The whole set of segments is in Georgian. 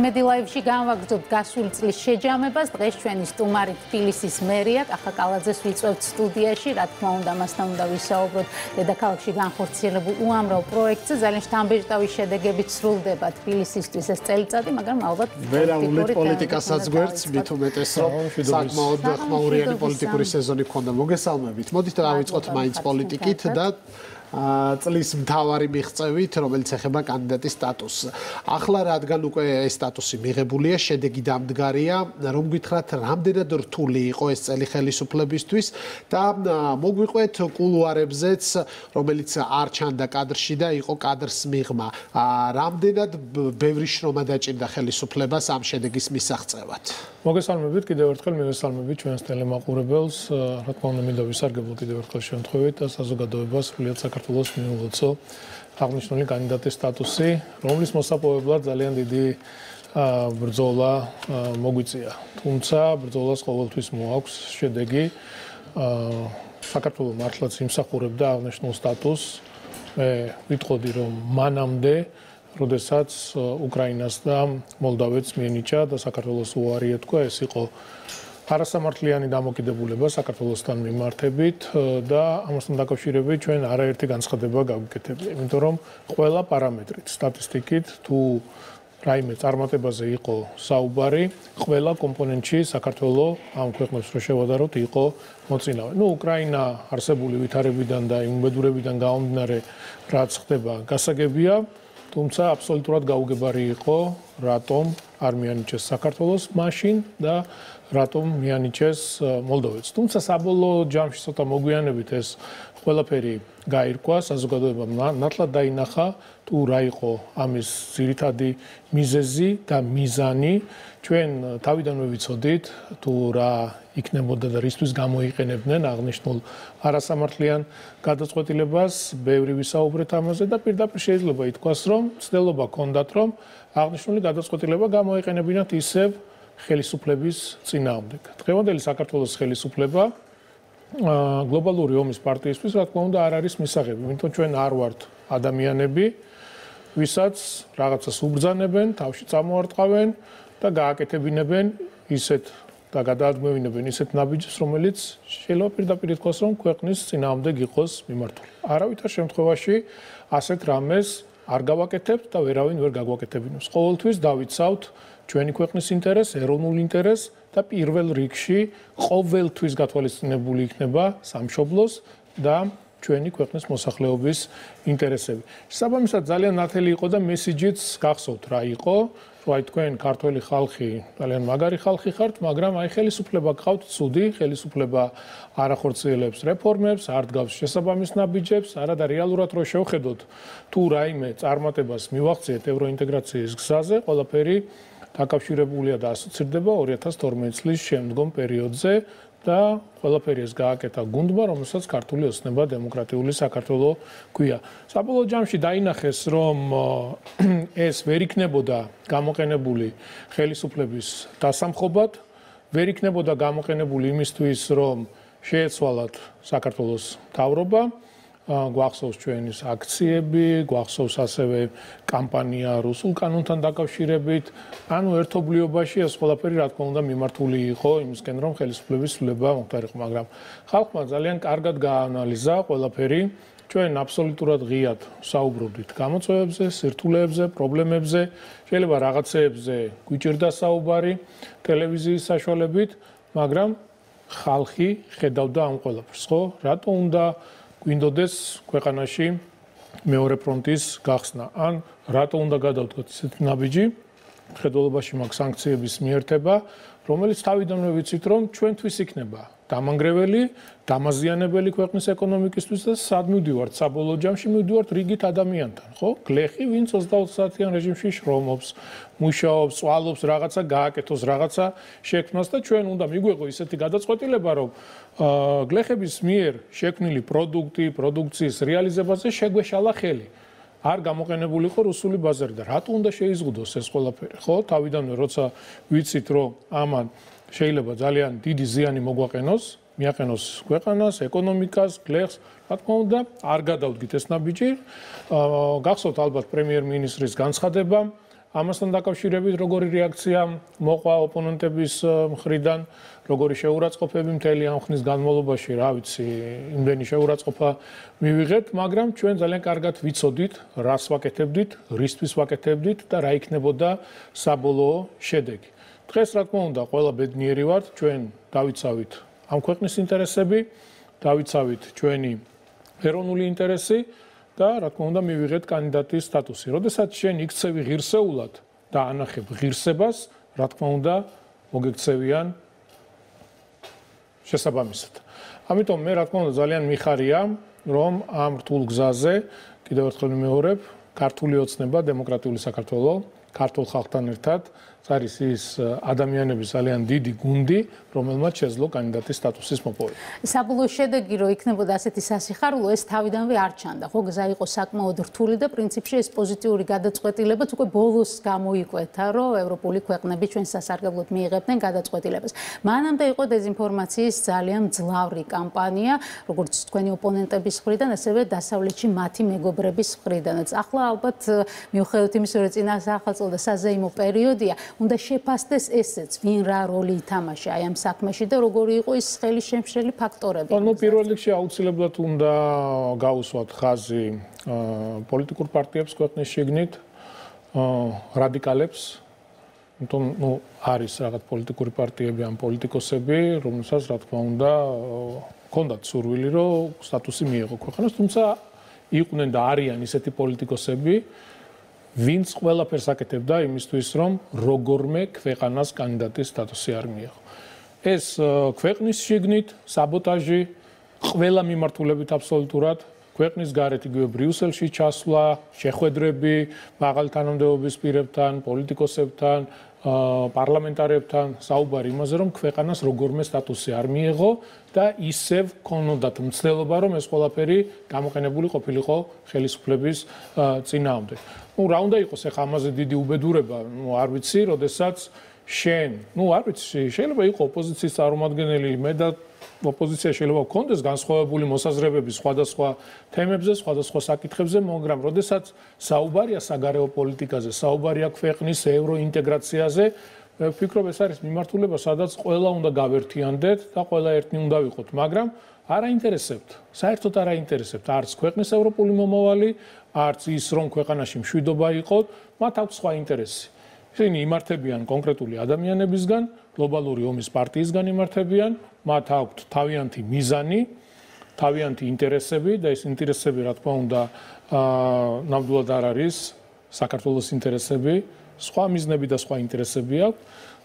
მეტი ლაივში განვაგრძობთ გასული წლის შეჯამებას. დღეს ჩვენი სტუმარი თბილისის მერია კახა კალაძეს ვიწვევთ სტუდიაში. რა თქმა უნდა, მასთან უნდა ვისაუბროთ დედაქალაქში განხორციელებულ უამრავ პროექტზე. ძალიან შთამბეჭდავი შედეგებით სრულდება თბილისისთვის ეს წელიწადი, მაგრამ ალბათ ვერაულად პოლიტიკასაც გვერდს, მით უმეტეს რომ საკმაოდ ხმაურიანი პოლიტიკური სეზონი გქონდა. მოგესალმებით. მოდით დავიწყოთ მაინც პოლიტიკით და წლის მთავარი მიღწევით, რომელიც ეხება კანდიდატის სტატუსს. ახლა რადგან უკვე ეს სტატუსი მიღებულია, შედეგი დამდგარია, რომ გითხრათ, რამდენად რთული იყო ეს წელი ხელისუფლებისთვის და მოგვიყვეთ კულუარებზეც, რომელიც არ ჩანდა კადრში და იყო კადრს მიღმა. რამდენად ბევრი შრომა დაჭირდა ხელისუფლებას ამ შედეგის მისაღწევად. მოგესალმებით, კიდევ ერთხელ მივესალმებით ჩვენს ტელემაყურებელს. რა თქმა უნდა, მინდა ვისარგებლო კიდევ ერთხელ შემთხვევით და საზოგადოებას სრულიად საქართველოს მიულოცო აღნიშნული კანდიდატის სტატუსი, რომლის მოსაპოვებლად ძალიან დიდი ბრძოლა მოგვიწია. თუმცა ბრძოლას ყოველთვის მოაქვს შედეგი. საქართველოს მართლაც იმსახურებდა აღნიშნულ სტატუსს. მე ვიტყოდი, რომ მანამდე როდესაც უკრაინას და მოლდავეთს მიენიჭა და საქართველოს უარი ეთქვა, ეს იყო არასამართლიანი დამოკიდებულება საქართველოსთან მიმართებით და ამასთან დაკავშირებით ჩვენ არაერთი განცხადება გავიკეთებია, იმიტომ რომ ყველა პარამეტრით, სტატისტიკით თუ რაიმე წარმატებაზე იყო საუბარი, ყველა კომპონენტში საქართველოს ამ ქვეყნებს რო შევადაროთ იყო მოწინავე. უკრაინა არსებული ვითარებიდან და იმუბედურებიდან გამომდინარე რაც ხდება გასაგებია, თუმცა აბსოლუტურად გაუგებარი იყო რატომ არ მიანიჭეს საქართველოს მაშინ და რატომ მიანიჭეს მოლდოვეთს. თუმცა საბოლოო ჯამში ცოტა მოგვიანებით ეს ყველაფერი გაირკვა, საზოგადოებამ ნათლად დაინახა თუ რა იყო ამის ძირითადი მიზეზი და მიზანი. ჩვენ თავიდანვე ვიცოდით თუ რა იქნებოდა და რისთვის გამოიყენებდნენ აღნიშნულ არასამართლიან გადაწყვეტილებას, ბევრი ვისაუბრეთ ამაზე და პირდაპირ შეიძლება ითქვას, რომ ცდილობა ჰქონდათ, რომ აღნიშნული გადაწყვეტილება გამოიყენებინათ ისევ ხელისუფლების წინააღმდეგ. დღევანდელი საქართველოს ხელისუფლება გლობალური ომის პარტიისთვის, რა თქმა უნდა, არ არის მისაღები, იმიტომ ჩვენ არ ვართ ადამიანები, ვისაც რაღაცას უბრძანებენ, თავში წამოარტყავენ და გააკეთებინებენ ისეთ და გადაადგმევინებენ ისეთ ნაბიჯს, რომელიც შეიძლება პირდაპირ ითქვას, რომ ქვეყნის წინააღმდეგ იყოს მიმართული. არავითარ შემთხვევაში ასეთ რამეს არ გავაკეთებთ და ვერავინ ვერ გაგვაკეთებინებს. ყოველთვის დავიცავთ ჩვენი ქვეყნის ინტერესს, ეროვნულ ინტერესს და პირველ რიგში ყოველთვის გათვალისწინებული იქნება სამშობლოს და ჩვენი ქვეყნის მოსახლეობის ინტერესები. შესაბამისად ძალიან ნათელი იყო და მესიჯიც გახსოვთ რა იყო, რომ აი თქვენ ქართველი ხალხი ძალიან მაგარი ხალხი ხართ, მაგრამ აი ხელისუფლება გყავთ ცუდი, ხელისუფლება არ ახორციელებს რეფორმებს, არ დგავს შესაბამის ნაბიჯებს, არადა რეალურად რო შევხედოთ თუ რაიმე წარმატებას მივახციეთ ევროინტეგრაციის გზაზე, ყველაფერი დაკავშირებულია და ასოცირდება 2012 წლის შემდგომ პერიოდზე და ყველაფერი ეს გააკეთა გუნდმა, რომელსაც ქართული ოცნება დემოკრატიული საქართველო ქვია. საბოლოო ჯამში დაინახეს, რომ ეს ვერ იქნებოდა გამოყენებული ხელისუფლების დასამხობად, ვერ იქნებოდა გამოყენებული იმისთვის, რომ შეეცვალათ საქართველოს მთავრობა. გვახსოვს ჩვენის აქციები, გვახსოვს ასევე კამპანია რუსულ კანონთან დაკავშირებით. ანუ ერთობლიობაში ეს ყველაფერი რა თქმა უნდა მიმართული იყო იმისკენ, რომ ხელისუფლების ცვლილება მოხდარიყო, მაგრამ ხალხმა ძალიან კარგად გაანალიზა ყველაფერი. ჩვენ აბსოლუტურად ღიად საუბრობდით გამოწვევებზე, სირთულეებზე, პრობლემებზე, შეიძლება რაღაცეებზე გვიჭირდა საუბარი ტელევიზიის საშუალებით, მაგრამ ხალხი ხედავდა ამ ყველაფერს, ხო? რატო უნდა გვინდოდეს ქვეყანაში მეორე ფრონტის გახსნა, ან რატო უნდა გადავდგოთ ისეთი ნაბიჯი, მხედველობაში მაქვს სანქციების მიერთება, რომელიც თავიდანვე ვიცით, რომ ჩვენთვის იქნება დამანგრეველი, დამაზიანებელი ქვეყნის ეკონომიკისთვის და სად მივდივართ საბოლოო ჯამში მივდივართ რიგით ადამიანთან, ხო? გლეხი, ვინც 24 საათიან რეჟიმში შრომობს, მუშაობს, წვალობს, რაღაცა გააკეთოს, რაღაცა შექმნას და ჩვენ უნდა მიგვეღო ისეთი გადაწყვეტილება, რომ გლეხების მიერ შექმნილი პროდუქციის რეალიზებაზე შეგვეშალა ხელი. არ გამოყენებული იყო რუსული ბაზარი და რატო უნდა შეიზღუდოს ეს ყველაფერი, ხო? თავიდანვე როცა ვიცით, რომ ამან შეიძლება ძალიან დიდი ზიანი მოგვაყენოს, მიაყენოს ქვეყანას, ეკონომიკას, გლეხს, რა თქმა უნდა, არ გადავდგით ეს ნაბიჯი. გახსოვთ ალბათ პრემიერ-მინისტრის განცხადება, ამასთან დაკავშირებით როგორი რეაქცია მოყვა ოპონენტების მხრიდან, როგორი შეურაცხყოფები მთელი ამ ხნის განმავლობაში, რა ვიცი, იმდენი შეურაცხყოფა მივიღეთ, მაგრამ ჩვენ ძალიან კარგად ვიცოდით, რას ვაკეთებდით, რისთვის ვაკეთებდით და რა იქნებოდა საბოლოო შედეგი. დღეს რა თქმა უნდა, ყველა ბედნიერი ვართ, ჩვენ დავიცავით ამ ქვეყნის ინტერესები, დავიცავით ჩვენი ეროვნული ინტერესი და რა თქმა უნდა მივიღეთ კანდიდატის სტატუსი. როდესაც შენ იქცევი ღირსეულად და ანახებ ღირსებას, რა თქმა უნდა მოგექცევიან შესაბამისად. ამიტომ მე რა თქმა უნდა ძალიან მიხარია, რომ ამ რთულ გზაზე კიდევ ერთხელ ვიმეორებ, ქართული ოცნება, დემოკრატიული საქართველო, ქართულ ხალხთან ერთად არის ის ადამიანების ძალიან დიდი გუნდი, რომელმაც შეძლო კანდიდატის სტატუსის მოპოვება. საბოლოო შედეგი რო იქნებოდა ასეთი სასიხარულო, ეს თავიდანვე არ ჩანდა. ხო, გზა იყო საკმაოდ რთული და პრინციპში ეს პოზიტიური გადაწყვეტილებაც უკვე ბოლოს გამოიკვეთა, რომ ევროპული ქვეყნები ჩვენ სასარგებლოდ მიიღებდნენ გადაწყვეტილებას. მანამდე იყო დეზინფორმაციის ძალიან მძლავრი კამპანია, როგორც თქვენი ოპონენტების მხრიდან, ასევე დასავლეთში მათი მეგობრების მხრიდანაც. ახლა ალბათ მიუხედავად იმისა, რომ წინა სახელმწიფო და საზეიმო პერიოდია, უნდა შეფასდეს ესეც, ვინ რა როლი ითამაშა აი ამ საქმეში და როგორი იყო ის ხელი შემშლელი ფაქტორები. ნუ პირველ რიგში აუცილებლად უნდა გაუსვათ ხაზი პოლიტიკურ პარტიებს ქვეყნის შიგნით, რადიკალებს, იმიტომ ნუ არის რაღაც პოლიტიკური პარტიები ან პოლიტიკოსები, რომელსაც რა თქმა უნდა ჰქონდათ სურვილი, რომ სტატუსი მიეღო ქვეყანას, თუმცა იყვნენ და არიან ისეთი პოლიტიკოსები, ვინც ყველაფერს აკეთებდა იმისთვის, რომ როგორმე ქვეყანას კანდიდატის სტატუსი არ მიეღო. ეს ქვეყნის შიგნით საბოტაჟი, ყველა მიმართულებით აბსოლუტურად, ქვეყნის გარეთ იგივე ბრიუსელში ჩასვლა, შეხვედრები მაღალი თანამდებობის პირებთან, პოლიტიკოსებთან, პარლამენტარებთან, საუბარი იმაზე, რომ ქვეყანას როგორმე სტატუსი არ მიეღო და ისევ ქონოდათ მცდელობა, რომ ეს ყველაფერი გამოყენებული ყოფილიყო ხელისუფლების წინააღმდეგ. ნუ რა უნდა იყოს ახლა ამაზე დიდი უბედურება, ნუ არ ვიცი, როდესაც შენ, ნუ არ ვიცი, შეიძლება იყოს ოპოზიციის წარმომადგენელი, მე და ოპოზიცია შეიძლება გქონდეს განსხვავებული მოსაზრებები სხვადასხვა თემებზე, სხვადასხვა საკითხებზე, მაგრამ როდესაც საუბარია საგარეო პოლიტიკაზე, საუბარია ქვეყნის ევროინტეგრაციაზე, მე ვფიქრობ, ეს არის მიმართულება, სადაც ყველა უნდა გავერთიანდეთ და ყველა ერთნი უნდა ვიყოთ, მაგრამ არ აინტერესებთ, საერთოდ არ აინტერესებთ არც ქვეყნის ევროპული მომავალი, არც ის, რომ ქვეყანაში მშვიდობა იყოთ, მათ აქვს სხვა ინტერესი. ისინი იმართებიან კონკრეტული ადამიანებისგან, გლობალური ომის პარტიისგან იმართებიან, მათ აქვთ თავიანთი მიზანი, თავიანთი ინტერესები და ეს ინტერესები, რა თქმა უნდა, ნამდვილად არ არის საქართველოს ინტერესები, სხვა მიზნები და სხვა ინტერესები აქვს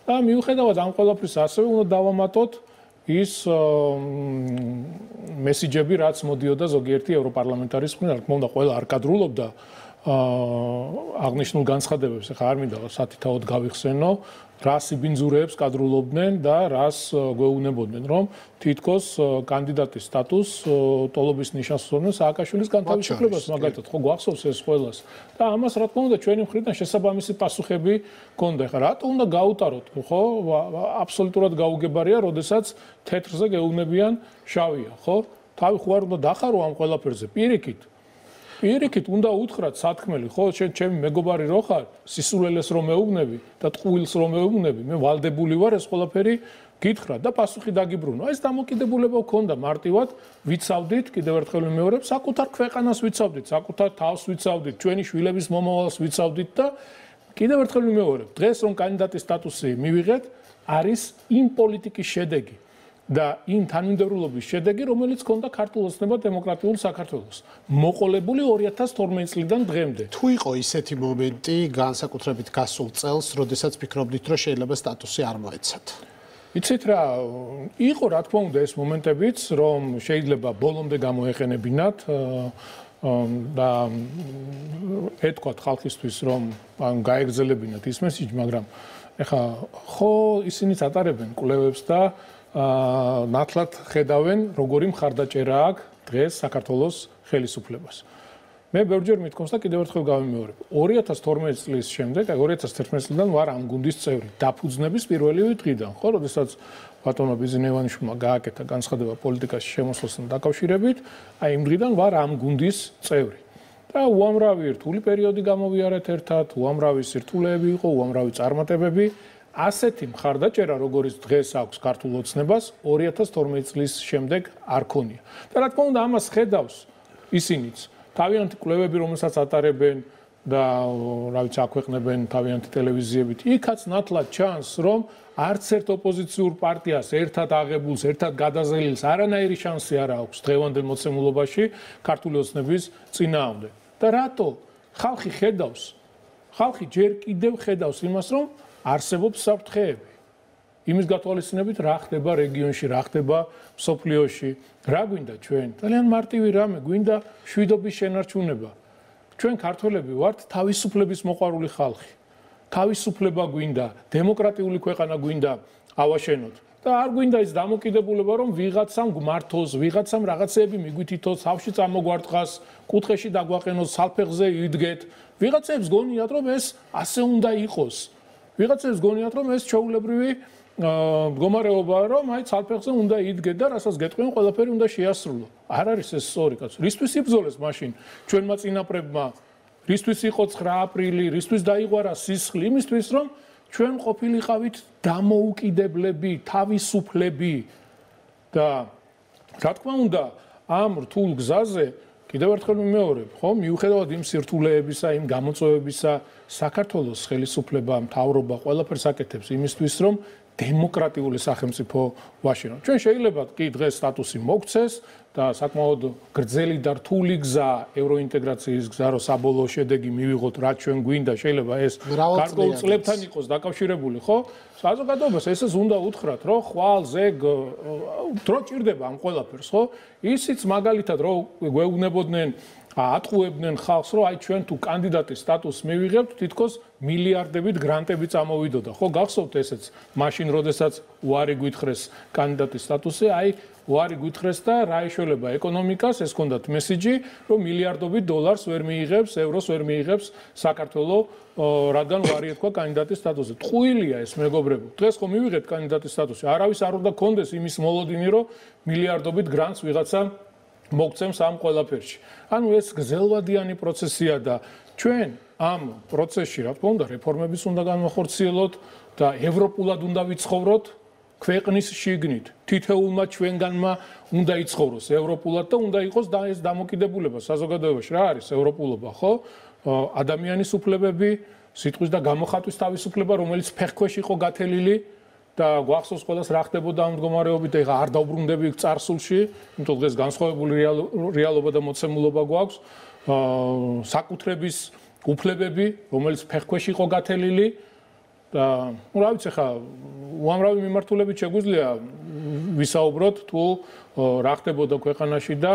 და მიუხედავად ამ ყველაფრისა, ასევე უნდა დავამატოთ ის მესიჯები, რაც მოდიოდა ზოგიერთი ევროპარლამენტარის მხრიდან, რა თქმა უნდა, ყველა არ კადრულობდა აღნიშნულ განცხადებებს, ახლა არ მინდა სათითაოდ გავიხსენო, რა სიბინძურეებს კადრულობდნენ და რას გვეუბნებოდნენ, რომ თითქოს კანდიდატის სტატუსს ტოლობის ნიშანს უსვამენ სააკაშვილის განთავისუფლებას, მაგალითად, ხო გვახსოვს ეს ყველას. და ამას რა თქმა უნდა ჩვენი მხრიდან შესაბამისი პასუხები ჰქონდა. ახლა რატო უნდა გაუტაროთ, ხო? აბსოლუტურად გაუგებარია, როდესაც თეთრზე გეუბნებიან შავია, ხო? თავი ხო არ უნდა დახარო ამ ყველაფერზე, პირიქით უნდა უთხრათ სათქმელი, ხო, ჩემი მეგობარი რო ხარ, სისულელეს რომ მეუბნები და ტყუილს რომ მეუბნები, მე ვალდებული ვარ ეს ყველაფერი გითხრა და პასუხი დაგიბრუნო. ეს დამოკიდებულება გქონდა მარტივად, ვიცავდით, კიდევ ერთხელ ვიმეორებ, საკუთარ ქვეყანას ვიცავდით, საკუთარ თავს ვიცავდით, ჩვენი შვილების მომავალს ვიცავდით და კიდევ ერთხელ ვიმეორებ, დღეს რომ კანდიდატის სტატუსი მივიღეთ, არის იმ პოლიტიკის შედეგი. და იმ თანმიმდევრულობის შედეგი, რომელიც ჰქონდა ქართულ ოცნება დემოკრატიულ საქართველოს. მოყოლებული 2012 წლიდან დღემდე. თუ იყო ისეთი მომენტი, განსაკუთრებით გასულ წელს, როდესაც ფიქრობდით, რომ შეიძლება სტატუსი არ მოეცათ? იცით რა, იყო რა თქმა უნდა ეს მომენტებიც, რომ შეიძლება ბოლომდე გამოეყენებინათ და ეთქვათ ხალხისთვის, რომ გაეგზელებინათ ის მესიჯი, მაგრამ ეხა ხო ისინიც ატარებენ კვლევებს და ნათლად ხედავენ, როგორი მხარდაჭერა აქვს დღეს საქართველოს ხელისუფლებას. მე ბევრჯერ მithქვამს და კიდევ ერთხელ გავიმეორებ. 2012 წლის შემდეგ, 2011 წლიდან ვარ ამ გუნდის წევრი, დაფუძნების პირველივე დღიდან, ხო, როდესაც ბატონმა ბიზნევანიშვილმა გააკეთა განცხადება პოლიტიკაში შემოსვლასთან დაკავშირებით, აი იმ დღიდან ვარ ამ გუნდის წევრი. და უამრავი რთული პერიოდი გამოვიარეთ ერთად, უამრავი სირთულეები იყო, უამრავი წარმატებები. ასეთი მხარდაჭერა, როგორც დღეს აქვს ქართულ ოცნებას, 2012 წლის შემდეგ არ ქონია. და რა თქმა უნდა, ამას ხედავს ისინიც. თავიანთი კვლევები, რომელსაც ატარებენ და რა ვიცი, აქვეყნებენ თავიანთი ტელევიზიებით, იქაც ნათლად ჩანს, რომ არც ერთ ოპოზიციურ პარტიას ერთად აღებულს, ერთად გადაზრდილს არანაირი შანსი არ აქვს დღევანდელ მოცემულობაში ქართული ოცნების წინააღმდეგ. და რატო? ხალხი ხედავს, ხალხი ჯერ კიდევ ხედავს იმას, რომ არსებობს საფრთხეები. იმის გათვალისწინებით რა ხდება რეგიონში, რა ხდება მსოფლიოში, რა გვინდა ჩვენ? ძალიან მარტივი რამე, გვინდა შვიდობის შენარჩუნება. ჩვენ ქართველები ვართ თავისუფლების მოყვარული ხალხი. თავისუფლება გვინდა, დემოკრატიული ქვეყანა გვინდა ავაშენოთ. და არ გვინდა ის დამოკიდებულება, რომ ვიღაცამ გმართოს, ვიღაცამ რაღაცეები მიგვითითოს, თავში წამოგვარტყას, კუთხეში დაგვაყენოს, სალფეხზე იდგეთ. ვიღაცებს გონიათ, რომ ეს ასე უნდა იყოს. ვიღაცებს გონიათ, რომ ეს ჩაულებრივი მდგომარეობაა, რომ აი სალფეხზე უნდა იდგეთ და რასაც გეტყვიან, ყველაფერი უნდა შეასრულო. არ არის ეს სწორი კაცო. რისთვის იბრძოლეს მაშინ ჩვენმა წინაპრებმა? რისთვის იყო 9 აპრილი, რისთვის დაიღვარა სისხლი? იმისთვის, რომ ჩვენ ყოფილიყავით დამოუკიდებლები, თავისუფლები და რა თქმა უნდა, ამ რთულ გზაზე კიდევ ერთხელ ვიმეორებ, ხო, მიუხედავად იმ სირთულეებისა, იმ გამოწვევებისა, საქართველოს ხელისუფლება, მთავრობა ყველაფერს აკეთებს იმისთვის, რომ დემოკრატიული სახელმწიფო ვაშენოთ. ჩვენ შეიძლება კი დღეს სტატუსი მოგცეს და საკმაოდ გრძელი და რთული გზა ევროინტეგრაციის გზა, რომ საბოლოო შედეგი მივიღოთ, რაც ჩვენ გვინდა, შეიძლება ეს გარკვეულ წლებთან იყოს დაკავშირებული, ხო? საზოგადოებას ესეც უნდა უთხრათ, რომ ხვალ ზეგ დრო ჭირდება ამ ყველაფერს, ხო? ისიც მაგალითად რომ გვეუბნებოდნენ ატყუებდნენ ხალხს, რომ აი ჩვენ თუ კანდიდატის სტატუსს მივიღებთ, თითქოს მილიარდებით გრანტები წამოვიდოდა. ხო, გახსოვთ ესეც, მაშინ როდესაც უარი გვითხრეს კანდიდატის სტატუსზე, აი უარი გვითხრეს და რა ეშველება ეკონომიკას, ეს ჰქონდათ მესიჯი, რომ მილიარდობით დოლარს ვერ მიიღებს, ევროს ვერ მიიღებს საქართველოს, რადგან უარი ეთქვა კანდიდატის სტატუსზე. ტყუილია ეს მეგობრებო. დღეს ხო მივიღეთ კანდიდატის სტატუსი, არავის არ უნდა კონდეს იმის მოლოდინი, რომ მილიარდობით გრანტს ვიღაცა მოგცემს ამ ყველაფერში. ანუ ეს გრძელვადიანი პროცესია და ჩვენ ამ პროცესში, რა თქმა უნდა, რეფორმების უნდა განვახორციელოთ და ევროპულად უნდა ვიცხოვროთ ქვეყნის შიგნით. თითოეულმა ჩვენგანმა უნდა იცხოვროს ევროპულად და უნდა იყოს და ეს დამოკიდებულება საზოგადოებაში. რა არის ევროპულობა, ხო? ადამიანის უფლებები, სიტყვის და გამოხატვის თავისუფლება, რომელიც ფეხქვეშ იყო გათელილი და გვახსოვს ყველას რა ხდებოდა ამ მდგომარეობით, ეხლა არ დავბრუნდები წარსულში, იმიტომ დღეს განსხვავებული რეალობა და მოცემულობა გვაქვს, საკუთრების უფლებები, რომელიც ფეხქვეშ იყო გათელილი და რა ვიცი ხა უამრავი მიმართულებით შეგვიძლია ვისაუბროთ თუ რა ხდებოდა ქვეყანაში და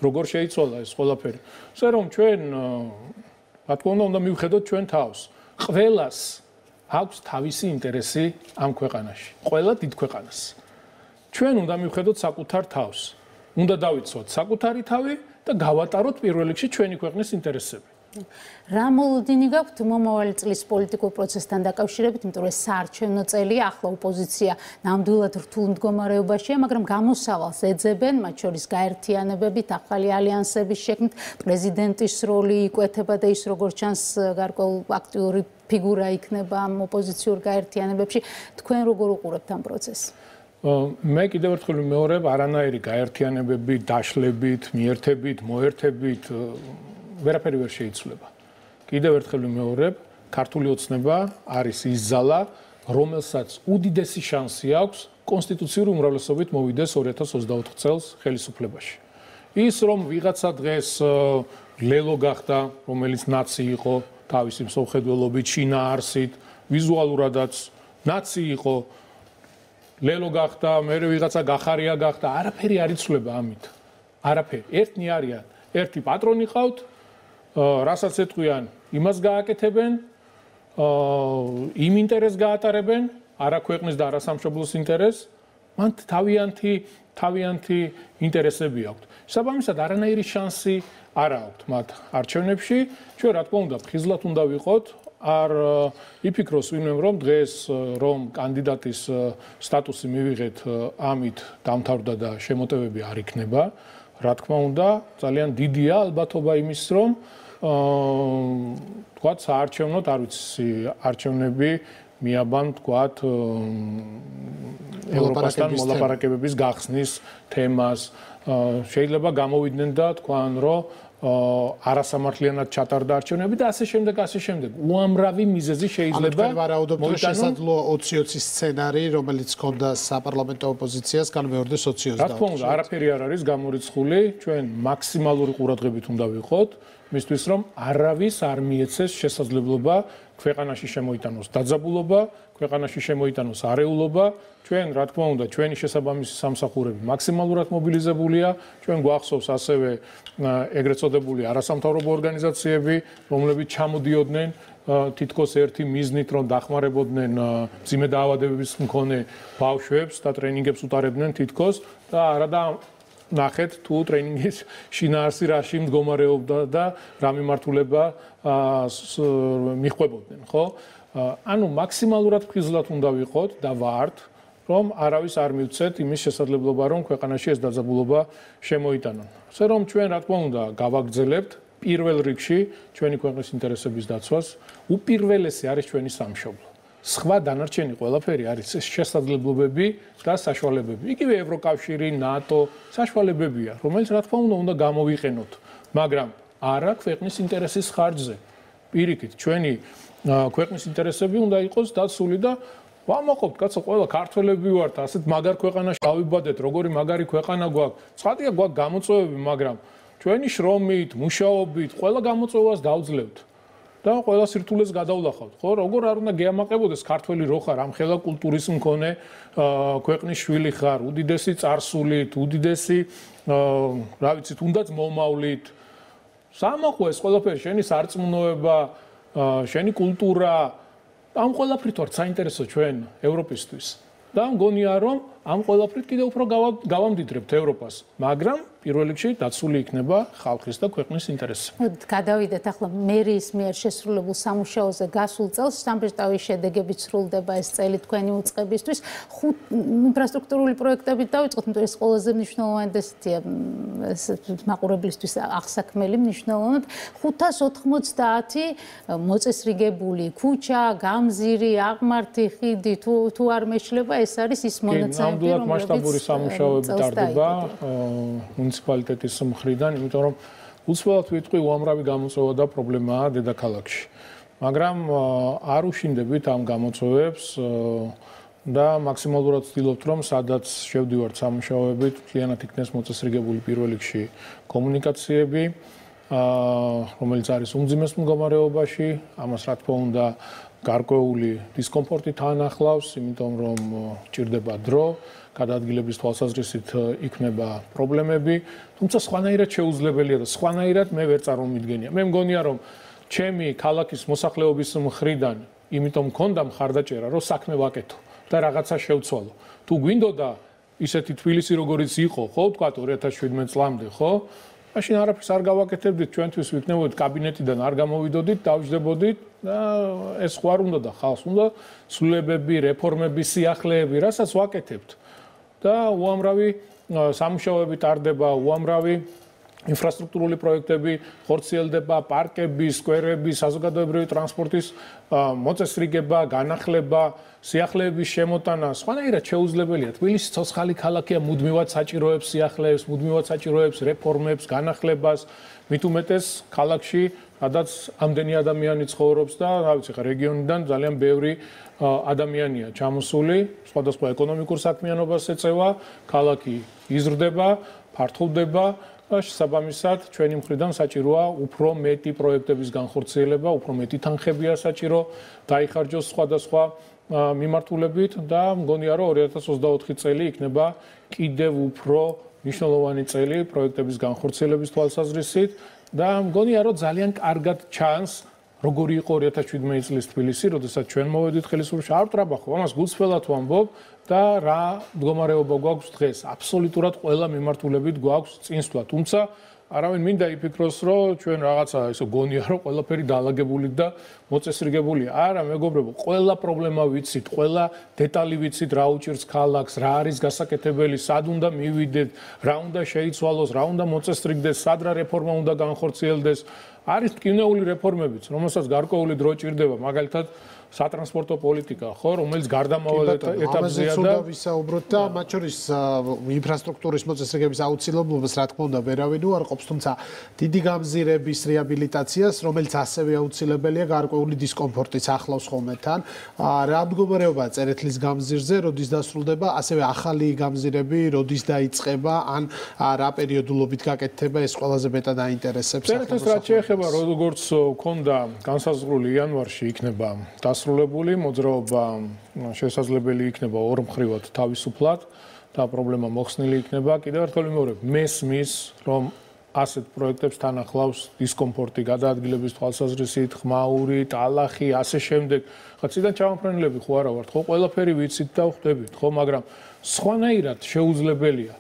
როგორ შეიცვალა ეს ყველაფერი. ასე რომ ჩვენ რა თქმა უნდა მივხედოთ ჩვენ თავს. ყველას აქვს თავისი ინტერესი ამ ქვეყანაში. ყველა დიდ ქვეყანას. ჩვენ უნდა მივხედოთ საკუთარ თავს. უნდა დავიცვათ საკუთარი თავი და გავატაროთ პირველ რიგში ჩვენი ქვეყნის ინტერესები. რა მოლოდინი გაქვთ მომავალი წლის პოლიტიკურ პროცესთან დაკავშირებით, იმიტომ რომ საარჩევნო წელია, ახლა ოპოზიცია ნამდვილად რთულ მდგომარეობაშია, მაგრამ გამოსავალს ეძებენ, მათ შორის გაერთიანებებით, ახალი ალიანსების შექმნით, პრეზიდენტის როლი იკვეთება და ის როგორც ჩანს გარკვეულ აქტიური ფიგურა იქნება ამ ოპოზიციურ გაერთიანებებში. თქვენ როგორ უყურებთ ამ პროცესს? მე კიდევ ერთხელ ვიმეორებ, არანაირი გაერთიანებები, დაშლებით, მიერთებით, მოერთებით ვერაფერი ვერ შეიცვლება. კიდევ ერთხელ ვიმეორებ, ქართული ოცნება არის ის ძალა, რომელსაც უდიდესი შანსი აქვს კონსტიტუციური უმრავლესობით მოვიდეს 2024 წელს ხელისუფლებაში. ის რომ ვიღაცა დღეს ლელო გახდა, რომელიც ნაცი იყო, თავისი მსოფლმხედველობით, შინაარსით, ვიზუალურადაც ნაცი იყო, ლელო გახდა, მერე ვიღაცა გახარია გახდა, არაფერი არ იცვლება ამით. არაფერი. ერთნი არიან, ერთი პატრონი ყავთ, რასაც ეთქვიან, იმას გააკეთებენ, იმ ინტერესს გაატარებენ, არა ქვეყნის და არა სამშობლოს ინტერესს, მან თავიანთი ინტერესები აქვთ. საბამისად, არანაირი შანსი არ აქვთ მათ არჩევნებში. ჩვენ რა თქმა უნდა, ხიზლად უნდა ვიყოთ, არ იფიქროს ვინმე რომ დღეს რომ კანდიდატის სტატუსი მივიღეთ, ამით დამთავრდა და შემოტევები არ იქნება. რა თქმა უნდა, ძალიან დიდია ალბათობა იმის, რომ თქვათ საარჩევნოდ, არ ვიცი, არჩევნები მიაბან თქვათ ევროპასთან მოლაპარაკებების გახსნის თემას. შეიძლება გამოვიდნენ და თქვან, რომ არასამართლიანად ჩატარდა არჩევნები და ასე შემდეგ. უამრავი მიზეზი შეიძლება მოიტანოს. შესაძლოა 20-20 სცენარი, რომელიც ჰქონდა საპარლამენტო ოპოზიციას, განმეორდეს 20-20. რა თქმა უნდა, არაფერი არ არის გამორიცხული, ჩვენ მაქსიმალური ყურადღებით უნდა ვიყოთ, მისთვის რომ არავის არ მიეცეს შესაძლებლობა ქვეყანაში შემოიტანოს დაძაბულობა, ქვეყანაში შემოიტანოს არეულობა. ჩვენ, რა თქმა უნდა, ჩვენი შესაბამისი სამსახურები მაქსიმალურად მობილიზებულია. ჩვენ გვახსოვს ასევე ეგრეთ წოდებული არასამთავრობო ორგანიზაციები, რომლებიც ჩამოდიოდნენ თითქოს ერთი მიზნით, რომ დახმარებოდნენ მძიმე დაავადებების მქონე ბავშვებს და ტრენინგებს უტარებდნენ თითქოს და არადა ნახეთ თუ ტრენინგის შინაარსი რაში მდგომარეობდა და რა მიმართულება მიხვებოდნენ, ხო? ანუ მაქსიმალურად ფხიზლად უნდა ვიყოთ და ვართ, რომ არავის არ მივცეთ იმის შესაძლებლობა, რომ ქვეყანაში ეს დაძაბულობა შემოიტანონ. ასე რომ ჩვენ, რა თქმა უნდა, გავაგრძელებთ პირველ რიგში ჩვენი ქვეყნის ინტერესების დაცვას, უპირველესი არის ჩვენი სამშობლო. სხვა დანარჩენი ყველაფერი არის შესაძლებლობები და საშუალებები. იგივე ევროკავშირი, ნატო, საშუალებებია, რომელიც რა თქმა უნდა გამოვიყენოთ, მაგრამ არა ქვეყნის ინტერესის ხარჯზე. პირიქით, ჩვენი ქვეყნის ინტერესები უნდა იყოს დაცული და ვამაყობთ, კაცო, ყველა ქართველები ვართ, ასეთ მაგარ ქვეყანაში დავიბადეთ, როგორი მაგარი ქვეყანა გვაქვს. ცხადია, გვაქვს გამოწვევები, მაგრამ ჩვენი შრომით, მუშაობით, ყველა გამოწვევას დავძლევთ. და ყველა სირთულეს გადავლახავთ, ხო? როგორ არ უნდა გეამაყებოდეს ქართველი რო ხარ, ამხელა კულტურის მქონე ქვეყნის შვილი ხარ, უდიდესი წარსულით, უდიდესი რა ვიცით, თუნდაც მომავლით. სამოყვე ეს ყველაფერი, შენი სარწმუნოება, შენი კულტურა, ამ ყველაფრით ვართ საინტერესო ჩვენ ევროპისთვის. და მგონია რომ ამ ყველაფრით კიდევ უფრო გავამდიდრებთ ევროპას, მაგრამ პირველ რიგში დაცული იქნება ხალხის და ქვეყნის ინტერესები. გადავიდეთ ახლა მერიის მიერ შესრულებულ სამუშაოზე გასულ წელს სამბეჭდავის შედეგებით სრულდება ეს წელი თქვენი უწყებისთვის. 5 ინფრასტრუქტურული პროექტებით დავიწყოთ, იმიტომ ეს ყველაზე მნიშვნელოვანი და ესეთია მაყურებლისთვის აღსაქმელი მნიშვნელოვნად. 590 მოწესრიგებული ქუჩა, გამზირი, აღმართი, ხიდი თუ არ მეშლება, ეს არის ის მონაცემები, რომლებიც მასშტაბური სამუშაოები ტარდება მუნიციპალიტეტის მხრიდან, იმიტომ რომ უცბად ვიტყვი უამრავი გამოწვევა და პრობლემაა დედაქალაქში. მაგრამ არ უშინდებით ამ გამოწვევებს და მაქსიმალურად ვცდილობთ, რომ სადაც შევდივართ სამუშაოებით, მთლიანად იქნეს მოწესრიგებული პირველ რიგში კომუნიკაციები, რომელიც არის უმძიმეს მდგომარეობაში, ამას რა თქმა უნდა გარკვეული დისკომფორტი თან ახლავს, იმიტომ რომ ჭირდება დრო, გადაადგილების თვალსაზრისით იქნება პრობლემები, თუმცა სხვანაირად შეუძლებელია და სხვანაირად მე ვერ წარმომიდგენია. მე მგონია რომ ჩემი ქალაქის მოსახლეობის მხრიდან, იმიტომ მქონდა მხარდაჭერა, რომ საქმე ვაკეთო და რაღაცა შევცვალო. თუ გვინდოდა ისეთი თბილისი როგორიც იყო, ხო, თქვა 2017 წლამდე, ხო? მაშინ არაფერს არ გავაკეთებდით, ჩვენთვის ვიქნებოდით კაბინეტიდან არ გამოვიდოდით, დავждდებოდით და ეს ხო არ უნდა და ხალხს უნდა ცვლილებები, რეფორმები, სიახლეები, რასაც ვაკეთებთ. და უამრავი სამუშაოები ტარდება, უამრავი ინფრასტრუქტურული პროექტები ხორციელდება, პარკები, სკვერები, საზოგადოებრივი ტრანსპორტის მოწესრიგება, განახლება, სიახლეების შემოტანა, სხვანაირად შეუძლებელია. თბილისი ცოცხალი ქალაქია, მუდმივად საჭიროებს სიახლეებს, მუდმივად საჭიროებს რეფორმებს, განახლებას, მით უმეტეს ქალაქში, სადაც ამდენი ადამიანი ცხოვრობს და, რა ვიცი, ხა რეგიონიდან ძალიან ბევრი ადამიანია ჩამოსული, სხვადასხვა ეკონომიკურ საქმიანობას ეწევა, ქალაქი იზრდება, ფართოვდება და შესაბამისად ჩვენი მხრიდან საჭიროა უფრო მეტი პროექტების განხორციელება, უფრო მეტი თანხებია საჭირო დაიხარჯოს სხვადასხვა მიმართულებით და მგონია რომ 2024 წელი იქნება კიდევ უფრო მნიშვნელოვანი წელი პროექტების განხორციელების თვალსაზრისით და მგონია რომ ძალიან კარგად ჩანს როგორი იყო 2017 წლის თბილისი, როდესაც ჩვენ მოვედით ხელისუფლებაში, არ ვტრაბახობ, ამას გულწრფელად ვამბობ და რა მდგომარეობა გვაქვს დღეს. აბსოლუტურად ყველა მიმართულებით გვაქვს წინსვლა, თუმცა არავინ მინდა იფიქროს, რომ ჩვენ რაღაცა ისო გონია, რომ ყველაფერი დაალაგებული და მოწესრიგებულია. არა, მეგობრებო, ყველა პრობლემა ვიცით, ყველა დეტალი ვიცით, რა უჭირს ქალაქს, რა არის გასაკეთებელი, სად უნდა მივიდეთ, რა უნდა შეიცვალოს, რა უნდა მოწესრიგდეს, სად რა რეფორმა უნდა განხორციელდეს. არის ტკივნეული რეფორმებიც, რომელსაც გარკვეული დრო ჭირდება, მაგალითად სატრანსპორტო პოლიტიკა, ხო, რომელიც გარდამავალ ეტაპზეა და ვისაუბროთ და მათ შორის ინფრასტრუქტურის მოწესრიგების აუცილებლობას, რა თქმა უნდა, ვერავინ უარყოფს, თუმცა დიდი გამზირების რეაბილიტაციას, რომელიც ასევე აუცილებელია გარკვეული დისკომფორტიც ახლავს ხოლმე თან. რა მდგომარეობაა წერეთლის გამზირზე, როდის დასრულდება, ასევე ახალი გამზირები, როდის დაიწყება, ან რა პერიოდულობით გაკეთდება, ეს ყველაზე მეტად აინტერესებს. წერეთლის რაც შეეხება, როგორც ქონდა განსაზღვრული იანვარში იქნება დასრულებული მოძრაობა შესაძლებელი იქნება ორმხრივად თავისუფლად და პრობლემა მოხსნილი იქნება. კიდევ ერთხელ ვიმეორებ, მესმის, რომ ასეთ პროექტებს თან ახლავს დისკომფორტი, გადაადგილების თვალსაზრისით, ხმაური, ტალახი, ასე შემდეგ. ხა ციდან ჩამოფრენილები ხო არა ვართ, ხო ყველაფერი ვიცით და ხვდებით, ხო, მაგრამ სხვანაირად შეუძლებელია.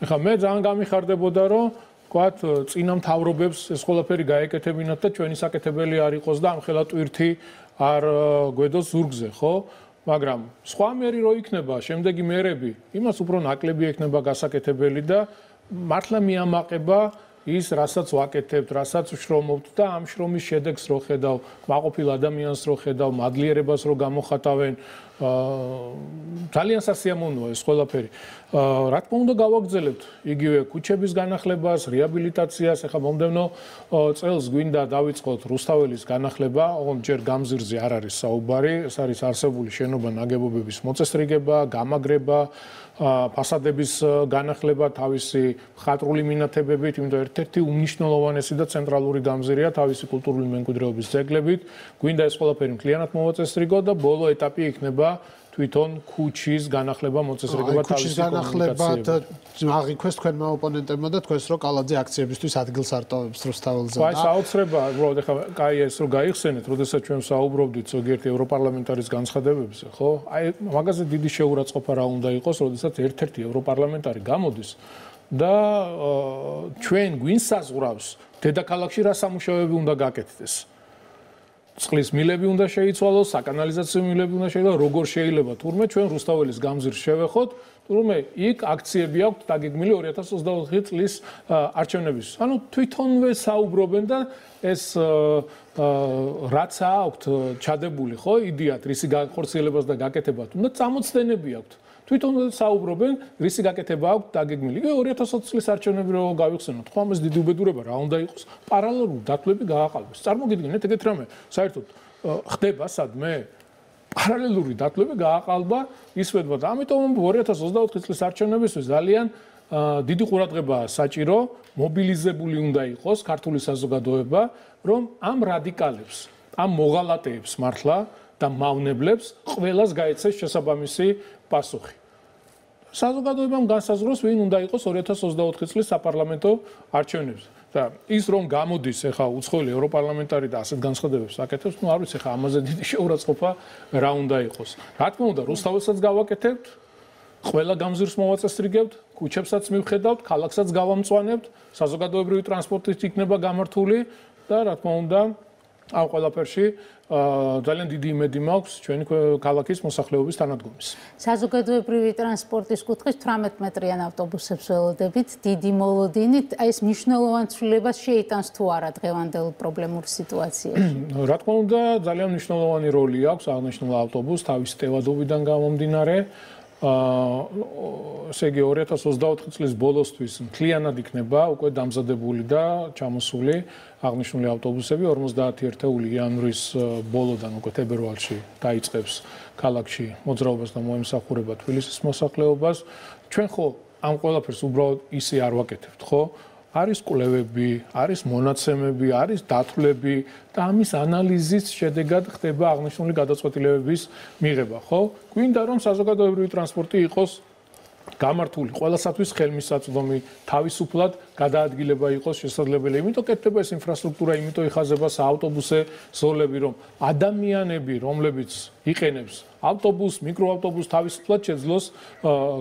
ეხლა მე ძალიან გამიხარდებოდა, რომ ვთქვათ, წინა მთავრობებს ეს ყველაფერი გაეკეთებინათ და ჩვენი საკეთებელი არ იყოს და ამხელა ტვირთი არ გვედოს ზურგზე, ხო? მაგრამ სხვა მერი რო იქნება, შემდეგი მერები, იმას უფრო ნაკლები ექნება გასაკეთებელი და მართლა მიამაყება ის, რასაც ვაკეთებთ, რასაც ვშრომობთ და ამ შრომის შედეგს რო ხედავ, მაყოფილ ადამიანს რო ხედავ, მადლიერებას რო გამოხატავენ, ძალიან სასიამოვნოა ეს ყველაფერი. რა თქმა უნდა გავაგრძელებთ იგივე ქუჩების განახლებას, რეაბილიტაციას, ეხლა მომდევნო წელს გვინდა დავიწყოთ რუსთაველის განახლება, ოღონდ ჯერ გამზირზე არ არის საუბარი, ეს არის არსებული შენობა ნაგებობების მოწესრიგება, გამაგრება, ფასადების განახლება თავისი ხატრული მინათებებით, იმიტომ ერთ-ერთი უმნიშვნელოვანესი და ცენტრალური გამზირია თავისი კულტურული მემკვიდრეობის ძეგლებით. გვინდა ეს ყველაფერი მთლიანად მოვაწესრიგო და ბოლო ეტაპი იქნება თვითონ ქუჩის განახლება, მოწესრიგება თავისი კომუნიკაციებით. აღიქვეს თქვენმა ოპონენტებმა და თქვენს რომ კალაძე აქციებისთვის ადგილს არტოვებს რუსთაველზე. აი, საოცრებაა, უბრალოდ ეხლა კაი ეს რომ გაიხსენეთ, როდესაც ჩვენ საუბრობდით ზოგიერთი ევროპარლამენტარის განცხადებებზე, ხო? აი, მაგაზე დიდი შეურაცხყოფა რა უნდა იყოს, როდესაც ერთ-ერთი ევროპარლამენტარი გამოდის და ჩვენ გვინსაზღვრავს დედაქალაქში რა სამუშაოები უნდა გაკეთდეს. წყლის მილები უნდა შეიცვალოს, საკანალიზაციო მილები უნდა შეიცვალოს, როგორ შეიძლება თურმე ჩვენ რუსთაველის გამზირს შევეხოთ, თურმე იქ აქციები აქვთ დაგეგმილი 2024 წლის არჩევნების. ანუ თვითონვე საუბრობენ და ეს რაც აქვთ ჩადებული, ხო, იდეათ რისი განხორციელებას და გაკეთებას, უნდა წამოწდენები აქვთ. თვითონ საუბრობენ, რისი გაკეთება აქვს დაგეგმილი. იგივე 2020 წლის არჩევნები რო გავიხსენოთ, ხო ამას დიდი უბედურება რა უნდა იყოს, პარალელურად დათვლები გააყალბეს. წარმოგიდგენთ ეგეთ რამე, საერთოდ ხდება სადმე პარალელური დათვლები გააყალბა ისვედვა და ამიტომ 2024 წლის არჩევნებისთვის ძალიან დიდი ყურადღებაა საჭირო, მობილიზებული უნდა იყოს ქართული საზოგადოება, რომ ამ რადიკალებს, ამ მოღალატეებს მართლა და მავნებლებს ყველას გაეცეს შესაბამისი პასუხი. საზოგადოებამ განსაზღვროს, ვინ უნდა იყოს 2024 წლის საპარლამენტო არჩევნებზე. და ის რომ გამოდის ახლა უცხოელი ევროპარლამენტარი და ასეთ განცხადებებს აკეთებს, ნუ არ ვიცი ახლა ამაზე დიდი შეურაცხყოფა რა უნდა იყოს. რა თქმა უნდა, რუსთაველსაც გავაკეთებთ, ყველა გამზირს მოვაწესრიგებთ, ქუჩებსაც მივხედავთ, ქალაქსაც გავამწვანებთ, საზოგადოებრივი ტრანსპორტით იქნება გამართული და რა თქმა უნდა, ამ ყველაფერში ძალიან დიდი იმედი მაქვს ჩვენი ქალაქის მოსახლეობის თანადგომის. საზოგადოებრივი ტრანსპორტის კუთხის 18 მეტრიან ავტობუსებს ველოდებით, დიდი მოლოდინით, აი ეს მნიშვნელოვან ცვლილებას შეიტანს თუ არა დღევანდელ პრობლემურ სიტუაციაში? რა თქმა უნდა, ძალიან მნიშვნელოვანი როლი აქვს აღნიშნულ ავტობუსს თავის ტევადობიდან გამომდინარე. ესე იგი 2024 წლის ბოლოსთვის მთლიანად იქნება უკვე დამზადებული და ჩამოსული აღნიშნული ავტობუსები 51 იანვრის ბოლოდან უკვე თებერვალში დაიწყებს ქალაქში მოძრაობას და მოემსახურება თბილისის მოსახლეობას. ჩვენ ხო ამ ყველაფერს უბრალოდ ისე არ ვაკეთებთ, ხო? არის კვლევები, არის მონაცემები, არის დათვლები და ამის ანალიზის შედეგად ხდება აღნიშნული გადაწყვეტილებების მიღება, ხო? გვინდა რომ საზოგადოებრივი ტრანსპორტი იყოს გამართული ყველასათვის ხელმისაწვდომი, თავისუფლად გადაადგილება იყოს შესაძლებელი. იმიტომ კეთდება ეს ინფრასტრუქტურა, იმიტომ იხაზება საავტობუსე ზოლები, რომ ადამიანები, რომლებიც იყენებს ავტობუსს, მიკროავტობუსს თავისუფლად შეძლოს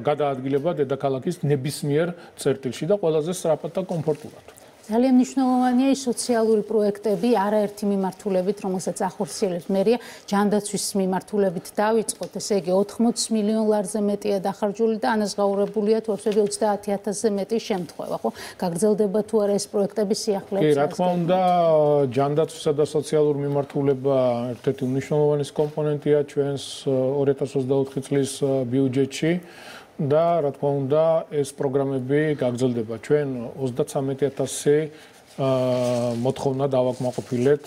გადაადგილება დედაქალაქის ნებისმიერ წერტილში და ყველაზე სწრაფად და კომფორტულად. ძალიან მნიშვნელოვანია ის სოციალური პროექტები, არაერთი მიმართულებით, რომელსაც ახორციელებს მერია, ჯანდაცვის მიმართულებით დავიწყოთ, ესე იგი 80 მილიონ ლარზე მეტია დახარჯული და ანაზღაურებულია თორსები 30,000-ზე მეტი შემთხვევა, ხო? გაგრძელდება თუ არა ეს პროექტები სიახლეებს? კი, რა თქმა უნდა, ჯანდაცვისა და სოციალურ მიმართულება ერთ-ერთი უმნიშვნელოვანესი კომპონენტია ჩვენს 2024 წლის ბიუჯეტში. და რა თქმა უნდა ეს პროგრამები გაგრძელდება. ჩვენ 33,000 მოთხოვნა დავაკმაყოფილეთ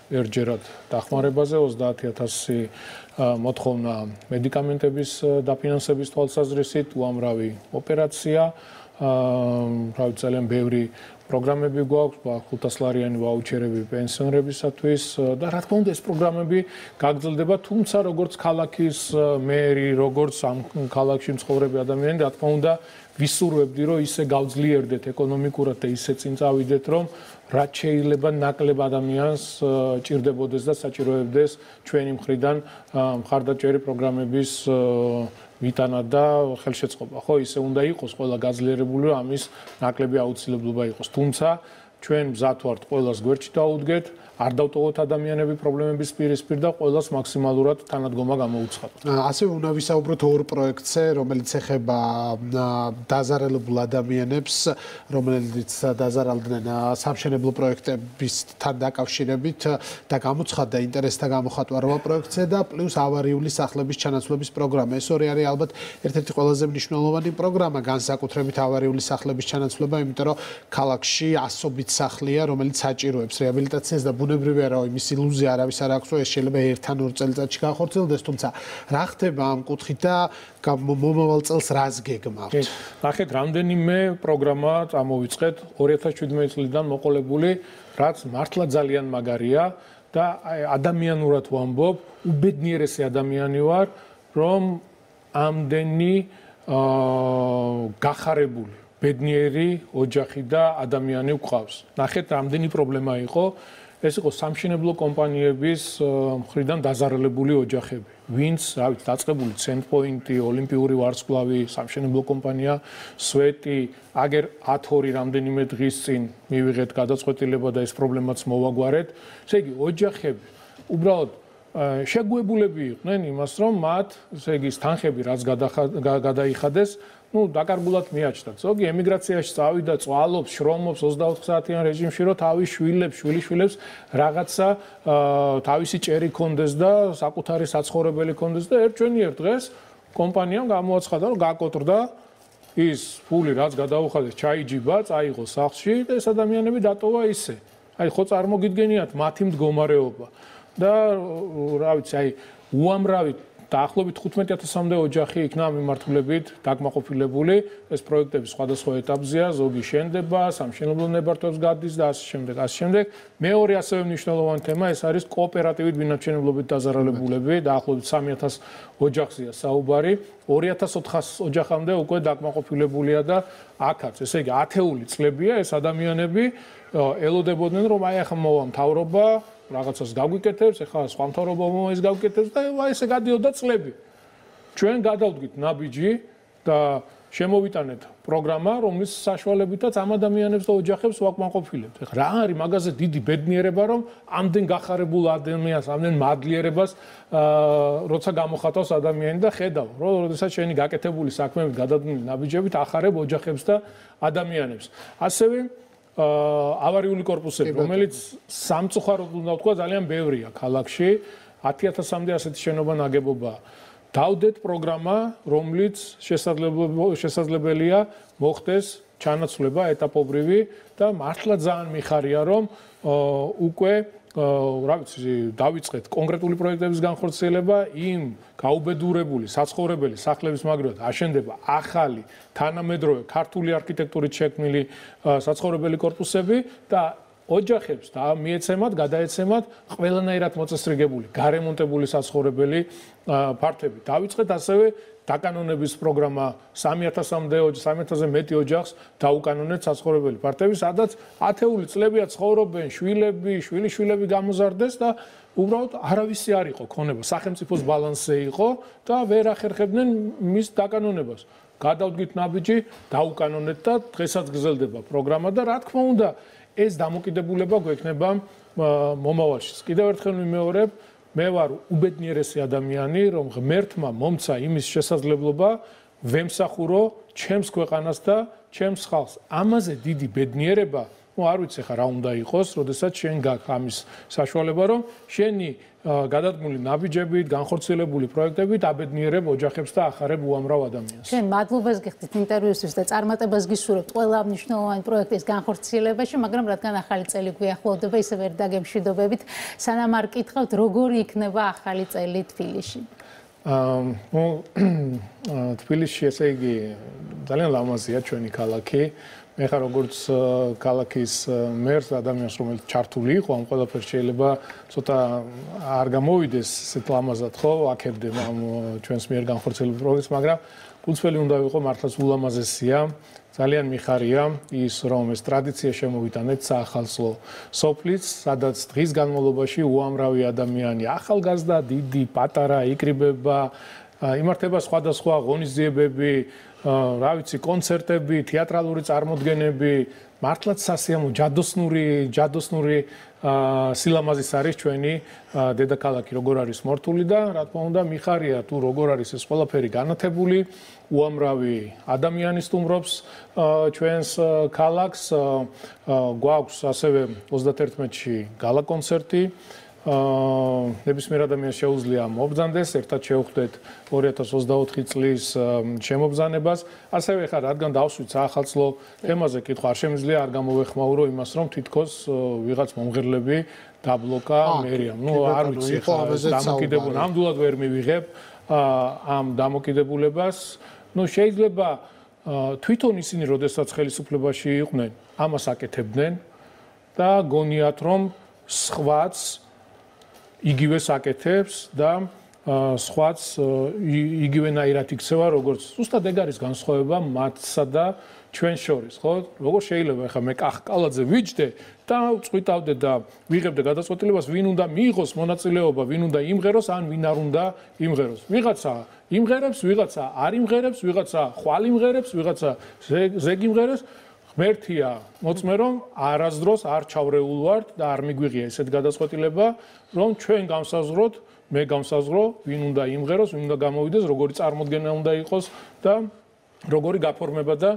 ერთჯერად დახმარებაზე, 30,000 მოთხოვნა მედიკამენტების დაფინანსების თვალსაზრისით, უამრავი ოპერაცია, ძალიან ბევრი პროგრამები გვაქვს, 500 ლარიანი ვაუჩერები პენსიონერებისათვის და რა თქმა უნდა ეს პროგრამები გაგრძელდება, თუმცა როგორც ქალაქის მერი, როგორც ამ ქალაქში მცხოვრები ადამიანები, რა თქმა უნდა ვისურვებდი, რომ ისე გავძლიერდეთ ეკონომიკურად და ისე წინ წავიდეთ, რომ რაც შეიძლება ნაკლებ ადამიანს ჭირდებოდეს და საჭიროებდეს ჩვენი მხრიდან მხარდაჭერი პროგრამების ვიტანა და ხელშეწყობა, ხო, ისე უნდა იყოს ყველა გაძლიერებული, რომ ამის ნაკლები აუცილებლობა იყოს. თუმცა ჩვენ მზად ვართ ყველას გვერდში დაუდგეთ, არ დავტოვოთ ადამიანები პრობლემების პირისპირ და ყველას მაქსიმალურად თანადგომა გამოუცხადოთ. ასევე უნდა ვისაუბროთ ორ პროექტზე, რომელიც ეხება დაზარალებულ ადამიანებს, რომელიც დაზარალდნენ სამშენებლო პროექტებისთან დაკავშირებით და გამოცხადდა ინტერესთა გამოხატვა რვა პროექტზე და პლუს ავარიული სახლების ჩანაცვლების პროგრამა. ეს ორი არის ალბათ ერთ-ერთი ყველაზე მნიშვნელოვანი პროგრამა, განსაკუთრებით ავარიული სახლების ჩანაცვლება, იმიტომ რომ ქალაქში ასობით სახლია, რომელიც საჭიროებს რეაბილიტაციას და ბუნებრივია რომ იმის ილუზია არავის არ აქვს რომ ეს შეიძლება ერთ-ან ორ წელიწადში განხორციელდეს, თუმცა რა ხდება ამ კუთხით და მომავალ წელს რას გეგმავთ? ნახეთ, რამდენიმე პროგრამა წამოვიწყეთ 2017 წლიდან მოყოლებული, რაც მართლა ძალიან მაგარია და ადამიანურად ვამბობ, უბედნიერესი ადამიანი ვარ, რომ ამდენი გახარებული ბედნიერი ოჯახი და ადამიანი გვყავს. ნახეთ, რამდენი პრობლემა იყო ეს იყო სამშენებლო კომპანიების მხრიდან დაზარალებული ოჯახები, ვინც, რა ვიცი, დაწყებული ცენტრპოინტი, ოლიმპიური ვარსკვლავი, სამშენებლო კომპანია, სვეტი, აგერ 10-2 რამდენიმე დღის წინ მივიღეთ გადაწყვეტილება და ეს პრობლემაც მოვაგვარეთ. ესე იგი, ოჯახები უბრალოდ შეგუებულები იყვნენ იმას, რომ მათ, ესე იგი, თანხები რაც გადაიხადეს, დაკარგულად მიაჩნდათ. ზოგი ემიგრაციაში წავიდა, წვალობს, შრომობს 24 საათიან რეჟიმში, რომ თავის შვილებს რაღაცა თავისი ჭერი კონდეს და საკუთარი საცხოვრებელი კონდეს და ერთვენიერ დღეს კომპანიამ გამოაცხადა, რომ გაკოტრდა ის ფული, რაც გადაუხადეს, ჩაიჯიბა, წაიღო სახლში და ეს ადამიანები დატოვა ისე. აი, ხო წარმოგიდგენიათ მათი მდგომარეობა და რა ვიცი, აი, უამრავი დაახლოებით 15,000-მდე ოჯახი იქნა მიმართულებით დაკმაყოფილებული. ეს პროექტები სხვადასხვა ეტაპზეა, ზოგი შენდება, სამშენებლო ნებართვებს გადის და ასე შემდეგ. მეორე ასევე მნიშვნელოვანი თემა ეს არის კოოპერატივით ბინადრჩენებლობით დაზარალებულები, დაახლოებით 3,000 ოჯახზეა საუბარი. 2,400 ოჯახამდე უკვე დაკმაყოფილებულია და აქაც, ესე იგი, ათეული წლებია ეს ადამიანები ელოდებოდნენ, რომ აი ახლა მოვა მთავრობა რაღაცას გაგვიკეთებს, ეხლა სხვა მთავრობა ის გაგვიკეთებს და ესე გადიოდა წლები. ჩვენ გადავდგით ნაბიჯი და შემოვიტანეთ პროგრამა, რომლის საშუალებითაც ამ ადამიანებს და ოჯახებს ვაკმაყოფილებთ. ეხლა რა არის მაგაზე დიდი ბედნიერება, რომ ამდენ გახარებულ ადამიანს, ამდენ მადლიერებას როცა გამოხატავს ადამიანი და ხედავ, რომ როდესაც შენი გაკეთებული საქმეებით გადადგმული ნაბიჯებით ახარებ ოჯახებს და ადამიანებს. ასევე ავარიული კორპუსები, რომელიც სამწუხაროდ უნდა ვთქვა, ძალიან ბევრია ქალაქში, 10,000-მდე ასეთი შენობა ნაგებობაა. დავდეთ პროგრამა, რომლიც შესაძლებელია მოხდეს ჩანაცვლება ეტაპობრივი და მართლა ძალიან მიხარია, რომ უკვე რა ვიცი, დავიწყეთ კონკრეტული პროექტების განხორციელება, იმ გაუბედურებული საცხოვრებელი სახლების მაგალითად აშენდება ახალი თანამედროვე ქართული არქიტექტურით შექმნილი საცხოვრებელი კორპუსები და ოჯახებს და მიეცემათ, გადაეცემათ ყველანაირად მოწესრიგებული, გარემონტებული საცხოვრებელი ფართები. დავიწყეთ ასევე დაკანონების პროგრამა 3,000-ზე მეტი ოჯახს დაუკანონეთ საცხოვრებელი ფართები, სადაც ათეული წლებია ცხოვრობენ შვილიშვილები გამოზარდეს და უბრალოდ არავისი არ იყო ქონება, სახელმწიფოს ბალანსზე იყო და ვერ ახერხებდნენ მის დაკანონებას. გადავდგით ნაბიჯი, დაუკანონეთ და დღესაც გრძელდება პროგრამა და რა თქმა უნდა, ეს დამოკიდებულება გვექნება მომავალში. კიდევ ერთხელ ვიმეორებ, მე ვარ უბედნიერესი ადამიანი, რომ ღმერთმა მომცა იმის შესაძლებლობა ვემსახურო ჩემს ქვეყანას და ჩემს ხალხს. ამაზე დიდი ბედნიერება, არ ვიცი ხა რა უნდა იყოს, როდესაც შენ გაქვს ამის საშუალება, რომ შენი გადადგმული ნაბიჯებით, განხორციელებული პროექტებით აბედნიერებ ოჯახებს და ახარებ უამრავ ადამიანს. შენ მადლობას გიხდით ინტერვიუსთვის და წარმატებას გისურვებთ ყველა მნიშვნელოვანი პროექტის განხორციელებაში, მაგრამ რადგან ახალი წელი გვიახლოვდება, ისე ვერ დაგემშვიდობებით, სანამ არ კითხავთ, როგორი იქნება ახალი წელი თბილისში? თბილისში, ესე იგი, ძალიან ლამაზია ჩვენი ქალაქი. მე ხარ როგორც ქალაქის მერს ადამიანს, რომელიც ჩართული იყო ამ ყველაფერს, შეიძლება ცოტა არ გამოვიდეს ესეთ ლამაზად, ხო, აქებდე ამ ჩვენს მიერ განხორციელებულ პროექტს, მაგრამ გულწრფელი უნდა ვიყო, მართლაც ულამაზესია. ძალიან მიხარია ის, რომ ეს ტრადიცია შემოვიტანეთ საახალწლო სოფლიც, სადაც დღის განმავლობაში უამრავი ადამიანი, ახალგაზრდა, დიდი, პატარა, იკრიბება, იმართება სხვადასხვა ღონისძიებები, რა ვიცი, კონცერტები, თეატრალური წარმოდგენები, მართლაც სასიამოვნო, ჯადოსნური სილამაზის არის ჩვენი დედაქალაქი, როგორ არის მორთული და რა თქმა უნდა, მიხარია თუ როგორ არის ეს ყველაფერი განათებული, უამრავი ადამიანი სტუმრობს ჩვენს ქალაქს, გვაქვს ასევე 31-ში გალა კონცერტი. ნებისმიერ ადამიანს შეუძლია მობრძანდეს, ერთად შევხვდეთ 2024 წლის შემობრძანებას. ასევე ხარ, რადგან დავსვით საახალწლო თემაზე კითხვა, არ შემიძლია არ გამოვეხმაურო იმას, რომ თითქოს ვიღაც მომღერლები დაბლოკა მერიამ. არ ვიცი, დამოკიდებულება, ნამდვილად ვერ მივიღებ ამ დამოკიდებულებას. შეიძლება თვითონ ისინი, როდესაც ხელისუფლებაში იყვნენ, ამას აკეთებდნენ და გონიათ, რომ სხვაც იგივე საკეთებს და სხვაც იგივენაირად იქცევა, როგორც ზუსტად ეგ არის განსხვავება მათსა და ჩვენ შორის, ხო? როგორ შეიძლება ახლა მე კახკალაძე ვიჯდე და წვიტავდე და ვიღებდე გადაწყვეტილებას, ვინ უნდა მიიღოს მონაწილეობა, ვინ უნდა იმღეროს, ან ვინ არ უნდა იმღეროს. ვიღაცა იმღერებს, ვიღაცა არ იმღერებს, ვიღაცა ხვალ იმღერებს, ვიღაცა ზეგ იმღერებს. ღმერთია მოწმე, რომ არასდროს არ ჩავრეულ ვართ და არ მიგვიღია ესეთ გადაწყვეტილება, რომ ჩვენ გავსაზღვროთ, მე გავსაზღვრო, ვინ უნდა იმღეროს, ვინ უნდა გამოვიდეს, როგორი წარმოდგენა უნდა იყოს და როგორი გაფორმება და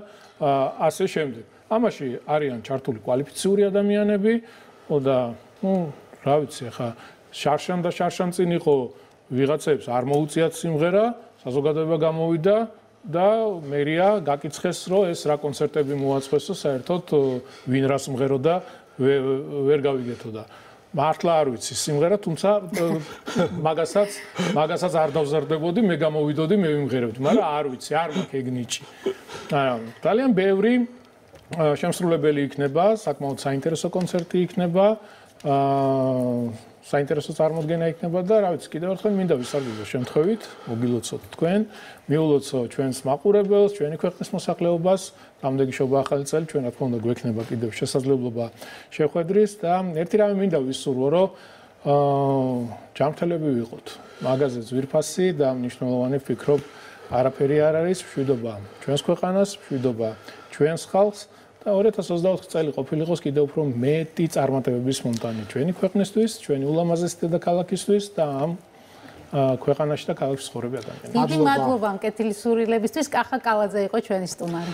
ასე შემდეგ. ამაში არიან ჩართული კვალიფიციური ადამიანები და რა ვიცი, ახლა შარშან და შარშან წინ იყო ვიღაცებს არ მოუწიათ სიმღერა, საზოგადოება გამოვიდა და მერია გაკიცხეს, რომ ეს რა კონცერტები მოაწყვესო, საერთოდ ვინ რას მღეროდა ვერ გავიგეთო და მართლა არ ვიცი სიმღერა, თუმცა მაგასაც არ დავზარდებოდი, მე გამოვიდოდი, მე ვიმღერებდი, მაგრამ არ ვიცი, არ მაქვს ეგ ნიჭი. ძალიან ბევრი შემსრულებელი იქნება, საკმაოდ საინტერესო კონცერტი იქნება, საინტერესო წარმოდგენა იქნება და რა ვიცი, კიდევ ერთხელ მინდა ვისარგებლო შემთხვევით, მოგილოცოთ თქვენ, მიულოცო ჩვენს მაყურებელს, ჩვენი ქვეყნის მოსახლეობას, დამდეგიშობა ახალი წელი, ჩვენ რა თქმა უნდა გვექნება კიდევ შესაძლებლობა შეხვედრის და ერთი რამე მინდა ვისურვო, რომ ჯანმრთელები ვიყოთ. მაგაზე ძვირფასი და მნიშვნელოვანი ვფიქრობ, არაფერი არ არის, მშვიდობა ჩვენს ქვეყანას, მშვიდობა ჩვენს ხალხს. და 2024 წელი ყოფილიყოს კიდევ უფრო მეტი წარმატებების მომტანი ჩვენი ქვეყნისთვის, ჩვენი ულამაზესი დედაქალაქისთვის და ამ ქვეყანაში და ქალაქში ცხოვრები ადამიანებისთვის. დიდი მადლობა ამ კეთილი სურვილებისთვის. კახა კალაძე იყო ჩვენი სტუმარი.